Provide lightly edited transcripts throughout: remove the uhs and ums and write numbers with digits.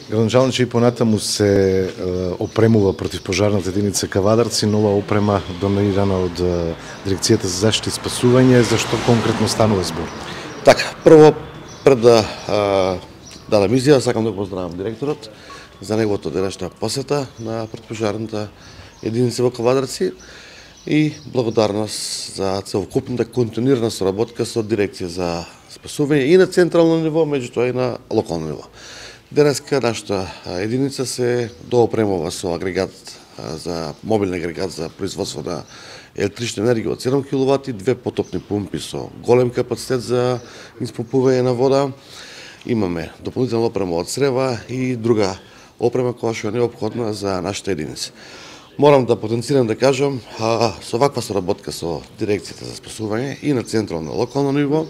Градоначалниче и понатаму се опремува противпожарната единица Кавадарци, нова опрема донирана од Дирекцијата за заштита и спасување. Зашто конкретно станува збор? Така, прво пред да дадам изјава, сакам да го поздравам директорот за неговото денешна посета на противпожарната единица во Кавадарци и благодарност за целокупната континуирана соработка со Дирекција за спасување и на централно ниво, меѓутоа и на локално ниво. Денеска нашата единица се доопремува со агрегат за мобилен агрегат за производство на електрична енергија од 7 киловати, 2 потопни пумпи со голем капацитет за испумпување на вода. Имаме дополнителна опрема од црева и друга опрема која што е неопходна за нашата единица. Морам да потенцирам да кажам, со ваква соработка со Дирекцијата за спасување и на централно локално ниво,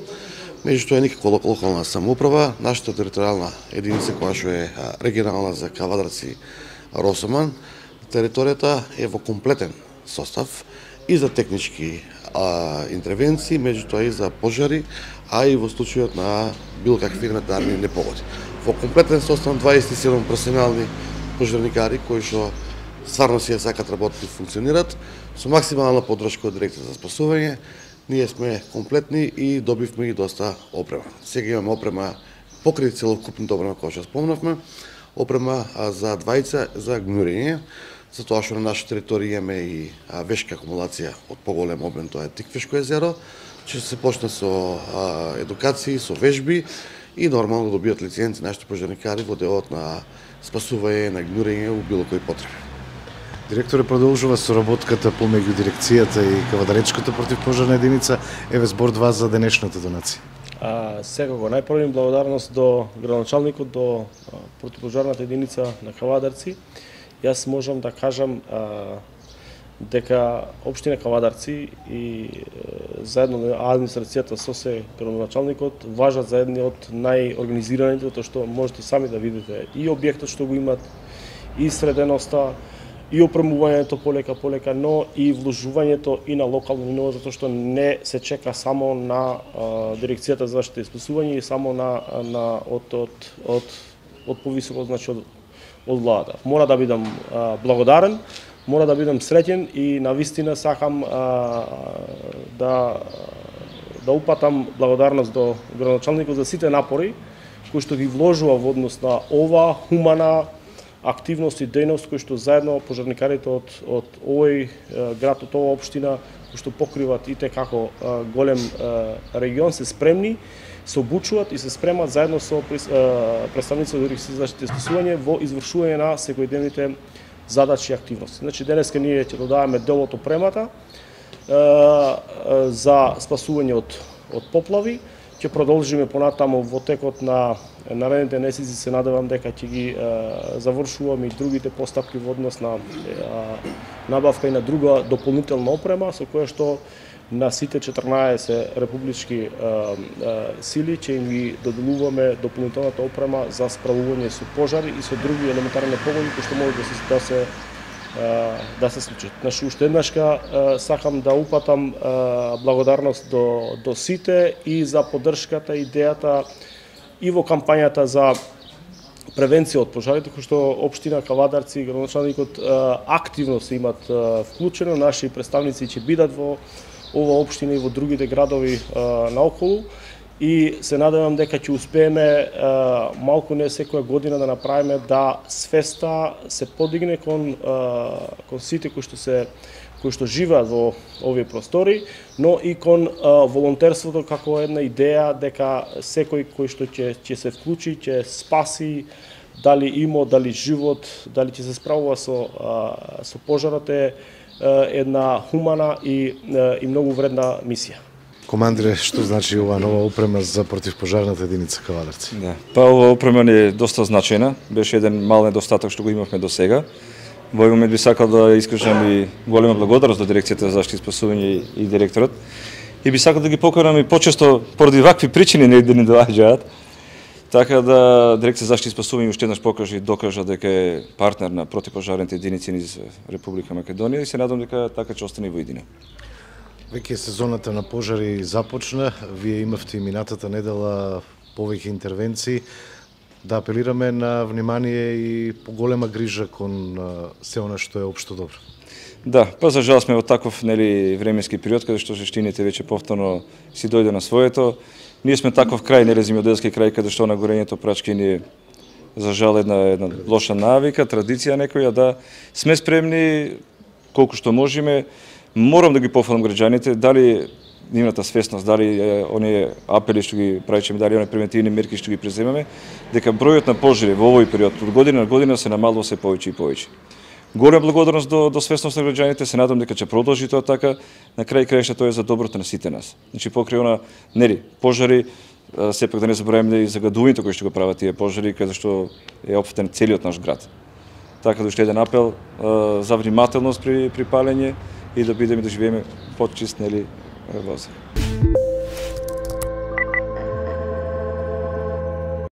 меѓутоа никако локална самоуправа, нашата територијална единица која што е регионална за Кавадарци Росоман, територијата е во комплетен состав и за технички интервенции, меѓутоа и за пожари, а и во случајот на било какви елементарни непогоди. Во комплетен состав 27 професионални пожарникари кои што стварно си ја сакат работи и функционират, со максимална поддршка од Дирекција за спасување. Ние сме комплетни и добивме и доста опрема. Сега имаме опрема покрај целокупната опрема која што спомнавме, опрема за двајца за гнурење, затоа што на наша територија имаме и вешка акумулација од поголем обем, тоа е Тиквешко езеро, ќе се почне со едукации, со вежби и нормално добијат лиценци нашите пожарникари во делот на спасување, на гнурење у било кој потреби. Директоре, продолжува соработката помеѓу дирекцијата и Кавадаречката противпожарна единица. Еве збор од вас за денешната донација. Секако најпрво благодарност до градоначалникот, до противпожарната единица на Кавадарци. Јас можам да кажам дека општина Кавадарци и заедно администрацијата со се градоначалникот важат за едни од најорганизираните, тоа што можете сами да видите и објектот што го имат, и среденоста, и опремувањето полека, но и вложувањето и на локално ниво, затоа што не се чека само на Дирекцијата за заштита и спасување и само од повисоко, значи од владата. Мора да бидам благодарен, мора да бидам среќен и навистина сакам да упатам благодарност до градоначалникот за сите напори кои што ги вложува во однос на ова хумана активност и дејност кои што заедно пожарникарите од овој град, од оваа општина, кои што покриват и како голем регион, се спремни, се обучуваат и се спремат заедно со представници од Дирекцијата за заштита и спасување во извршување на секојдневните задачи и активности. Значи денеска ние ќе додаваме дел од опремата за спасување од поплави. Ќе продолжиме понатаму во текот на наредните месеци, се надевам дека ќе ги завршуваме и другите постапки во однос на набавка и на друга дополнителна опрема со која што на сите 14 републички сили ќе им ги доделуваме дополнителната опрема за справување со пожари и со други елементарни непогоди кои што може да се случат. Значи, уште еднашка сакам да упатам благодарност до сите и за поддршката, идејата и во кампањата за превенција од пожарите, кои што општина Кавадарци и градоначалникот активно се имат вклучено. Наши представници ќе бидат во ова општина и во другите градови наоколу. И се надевам дека ќе успееме малку не секоја година да направиме да свеста се подигне кон сите кои што живеат во овие простори, но и кон волонтерството како една идеја дека секој кој што ќе се вклучи, ќе спаси дали имот, дали живот, дали ќе се справува со пожарот е една хумана и многу вредна мисија. Командире, што значи ова нова опрема за противпожарната единица Кавадарци? Да, ова опрема е доста значајна. Беше еден мал недостаток што го имавме до сега. Во овој момент би сакал да искажам и голема благодарност до Дирекцијата за заштита и спасување и директорот. И би сакал да ги покарам и почесто поради вакви причини да не доаѓаат. Така да Дирекција за заштита и спасување уште еднаш покажа и докажа дека е партнер на противпожарните единици низ Република Македонија и се надам дека така ќе остане во иднина. Веќе сезоната на пожари започна, вие имавте и минатата недела повеќе интервенции. да апелираме на внимание и поголема грижа кон се она што е општо добро. Да, па за жал сме во таков временски период каде што жештините веќе повторно си дојде на своето. Ние сме таков крај, земјоделски крај каде што на горењето прачки ни за жал една лоша навика, традиција некоја, да сме спремни колку што можеме. Морам да ги пофалам граѓаните, дали нивната свесност, дали оние апели што ги правиме, дали оние превентивни мерки што ги преземаме, дека бројот на пожари во овој период од година на година се намалува се повеќе и повеќе. Голема благодарност до свесност на граѓаните, се надам дека ќе продолжи тоа така, на крај краишта тоа е за доброто на сите нас. Значи покрај она пожари, сепак да не забораваме и загадувањето кои што го прават тие пожари, каде што е опфатен целиот наш град. Така да уште еден апел за внимателност при палење и да бидеме да живееме почист, воздух.